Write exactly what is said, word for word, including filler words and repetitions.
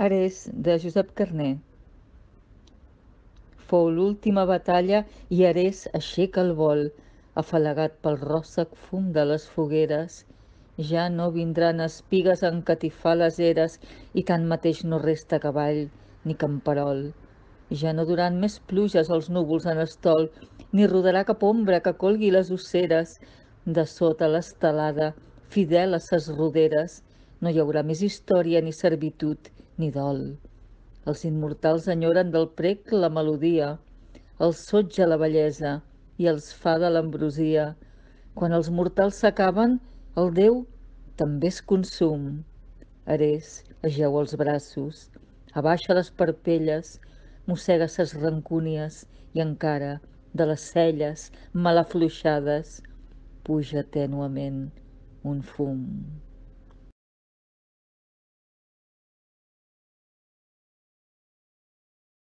Ares, de Josep Carner. Fou l'última batalla i Ares aixeca el vol, afalagat pel ròssec fum de les fogueres. Ja no vindran espigues a encatifar les eres i tanmateix no resta cavall ni camperol. Ja no duran més pluges els núvols en estol, ni rodarà cap ombra que colgui les osseres. De sota l'estelada, fidel a ses roderes, no hi haurà més història ni servitud ni dol. Els immortals enyoren del prec la melodia, els sotja la bellesa i els fa de l'ambrosia. Quan els mortals s'acaben, el Déu també es consum. Ares ajeu els braços, abaixa les parpelles, mossega ses rancúnies i encara, de les celles mal afluixades, puja tènuement un fum.